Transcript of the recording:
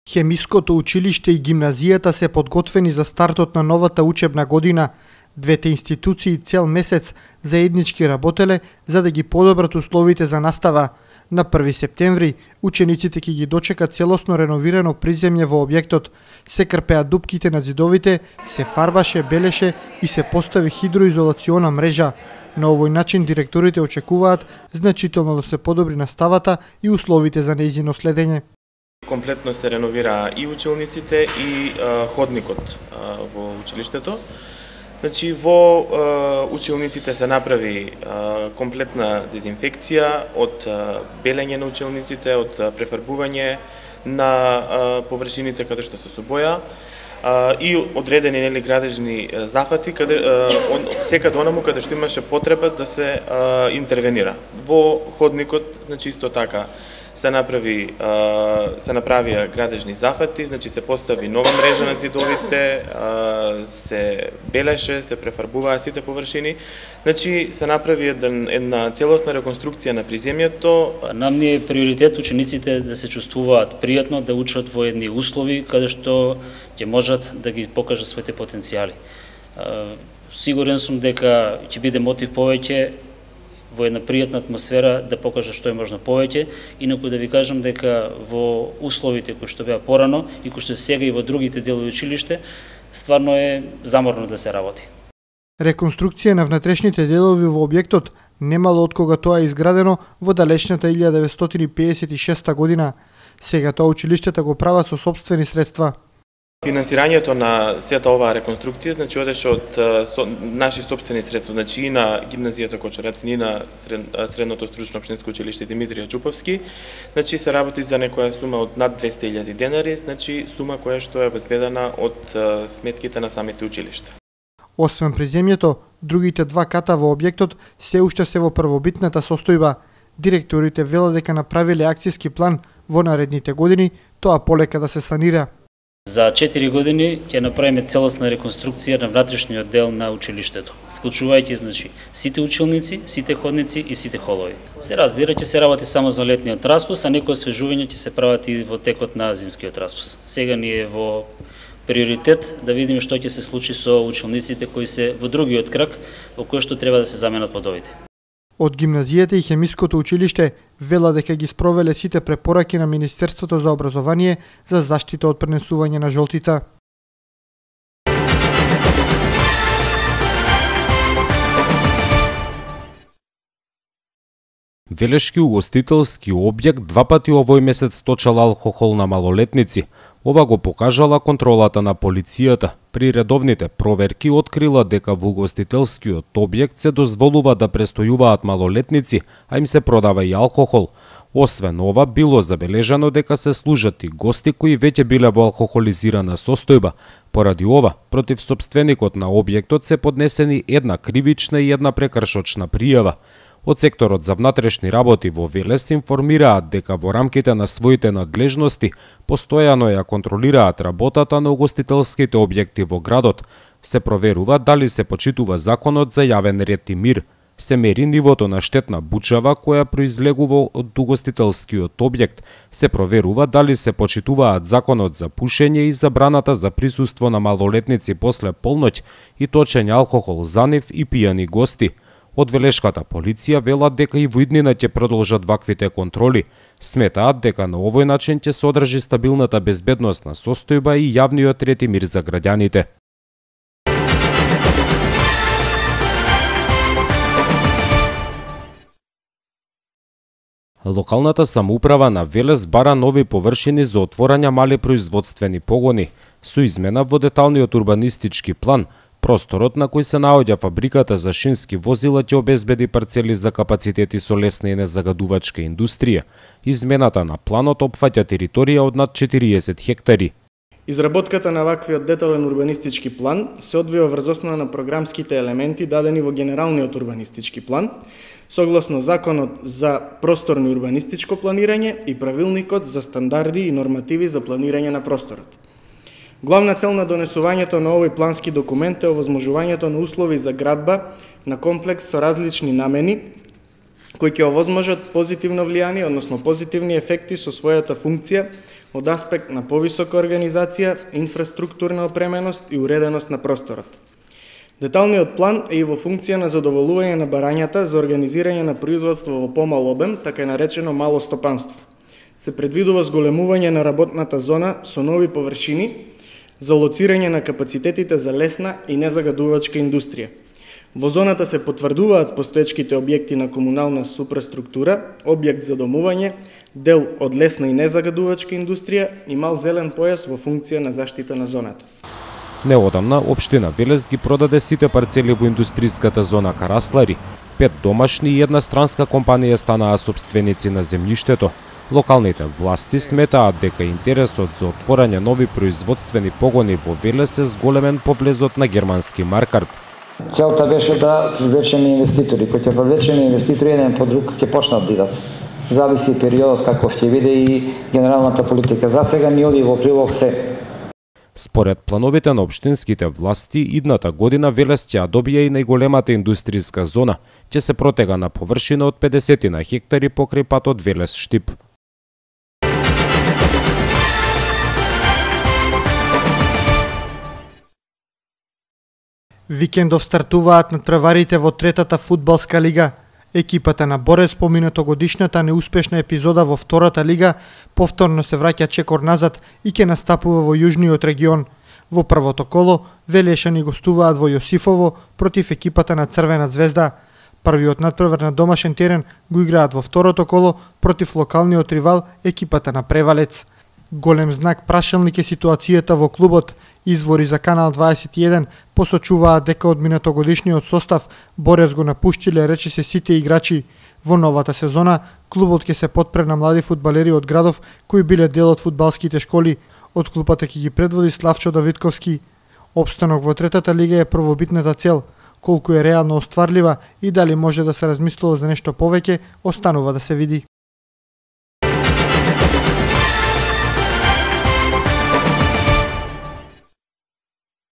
Хемиското училиште и гимназијата се подготвени за стартот на новата учебна година. Двете институции цел месец заеднички работеле за да ги подобрат условите за настава. На 1 септември учениците ќе ги дочекат целосно реновирано приземје во објектот. Се крпеа дупките на зидовите, се фарбаше, белеше и се постави хидроизолациона мрежа. На овој начин директорите очекуваат значително да се подобри наставата и условите за нејзино следење. Комплетно се реновира и училниците и ходникот во училиштето. Значи, во училниците се направи комплетна дезинфекција од белење на училниците, од префарбување на површините каде што се со боја и одредени градежни зафати секаде онаму каде што имаше потреба да се интервенира. Во ходникот, значи исто така се направија градежни зафати, значи се постави нова мрежа на зидовите, се белеше, се префарбуваа сите површини, значи се направи една целосна реконструкција на приземјето. Нам ни е приоритет учениците да се чувствуваат пријатно, да учат во едни услови каде што ќе можат да ги покажат своите потенцијали. Сигурен сум дека ќе биде мотив повеќе во една пријатна атмосфера да покажа што е можно повеќе, инаку да ви кажам дека во условите кои што беа порано и кои што сега и во другите делови училиште, стварно е заморно да се работи. Реконструкција на внатрешните делови во објектот немало од кога тоа е изградено во далечната 1956 година. Сега тоа училиштата го прават со сопствени средства. Финансирањето на сета оваа реконструкција, значи, одеше од наши сопствени средства, значи и на гимназијата Кочарац, и на средното стручно општинско училиште Димитрија Чуповски, значи се работи за некоја сума од над 200.000 денари, значи сума која што е обезбедена од сметките на самите училишта. Освен приземјето, другите два ката во објектот се уште се во првобитната состојба. Директорите велат дека направиле акцијски план во наредните години тоа полека да се санира. За 4 години ќе направиме целосна реконструкција на внатрешниот дел на училиштето, вклучувајќи значи сите училници, сите ходници и сите холови. Се разбира, ќе се работи само за летниот распус, а некои освежувања ќе се прават и во текот на зимскиот распус. Сега ни е во приоритет да видиме што ќе се случи со училниците кои се во другиот крак, во кој што треба да се заменат подовите. Од гимназијата и хемиското училиште вела дека ги спровеле сите препораки на Министерството за образование за заштита од пренесување на жолтица. Велешки угостителски објект два пати овој месец точал алкохол на малолетници. Ова го покажала контролата на полицијата. При редовните проверки открила дека во угостителскиот објект се дозволува да престојуваат малолетници, а им се продава и алкохол. Освен ова, било забележано дека се служат и гости кои веќе биле во алкохолизирана состојба. Поради ова, против сопственикот на објектот се поднесени една кривична и една прекршочна пријава. Од секторот за внатрешни работи во Велес информираат дека во рамките на своите надлежности постојано ја контролираат работата на угостителските објекти во градот. Се проверува дали се почитува законот за јавен ред и мир. Се мери нивото на штетна бучава која произлегува од угостителскиот објект. Се проверува дали се почитуваат законот за пушење и забраната за присуство на малолетници после полноќ и точење алкохол за нив и пијани гости. Од Велешката полиција велат дека и во иднина ќе продолжат ваквите контроли. Сметаат дека на овој начин ќе се одржи стабилната безбедносна состојба и јавниот ред и мир за граѓаните. Локалната самоуправа на Велес бара нови површини за отворање мали производствени погони. Со измена во деталниот урбанистички план, просторот на кој се наоѓа фабриката за шински возила ќе обезбеди парцели за капацитети со лесна и незагадувачка индустрија. Измената на планот опфаќа територија од над 40 хектари. Изработката на ваквиот детален урбанистички план се одвива врз основа на програмските елементи дадени во генералниот урбанистички план, согласно Законот за просторно урбанистичко планирање и Правилникот за стандарди и нормативи за планирање на просторот. Главна цел на донесувањето на овој плански документ е овозможувањето на услови за градба на комплекс со различни намени кои ќе овозможат позитивно влијание, односно позитивни ефекти со својата функција од аспект на повисока организација, инфраструктурна опременост и уреденост на просторот. Деталниот план е и во функција на задоволување на барањата за организирање на производство во помал обем, така и наречено мало стопанство. Се предвидува зголемување на работната зона со нови површини за лоцирање на капацитетите за лесна и незагадувачка индустрија. Во зоната се потврдуваат постоечките објекти на комунална супраструктура, објект за домување, дел од лесна и незагадувачка индустрија и мал зелен појас во функција на заштита на зоната. Неодамна, општина Велес ги продаде сите парцели во индустријската зона Караслари. 5 домашни и една странска компанија станаа сопственици на земјиштето. Локалните власти сметаат дека интересот за отворање нови производствени погони во Велес е зголемен по влезот на германски Маркарт. Целта беше да привлечеме инвеститори. Кои ќе привлечеме инвеститори еден по друг ќе почнат да идат. Зависи периодот каков ќе биде и генералната политика. За сега ни оди во прилог се. Според плановите на општинските власти, идната година Велес ќе добија и најголемата индустријска зона. Ќе се протега на површина од 50 на хектари покрај патот Велес-Штип. Викендов стартуваат надпреварите во третата фудбалска лига. Екипата на Борец по минатогодишната неуспешна епизода во втората лига повторно се враќа чекор назад и ќе настапува во јужниот регион. Во првото коло Велешани гостуваат во Јосифово против екипата на Црвена звезда. Првиот надпревар на домашен терен го играат во второто коло против локалниот ривал екипата на Превалец. Голем знак прашалник е ситуацијата во клубот. Извори за Канал 21 посочуваат дека од минатогодишниот состав Борец го напуштиле речиси сите играчи. Во новата сезона клубот ќе се потпре на млади фудбалери од градов кои биле дел од фудбалските школи. Од клупата ќе ги предводи Славчо Давидковски. Опстанок во третата лига е првобитната цел. Колку е реално остварлива и дали може да се размислува за нешто повеќе, останува да се види.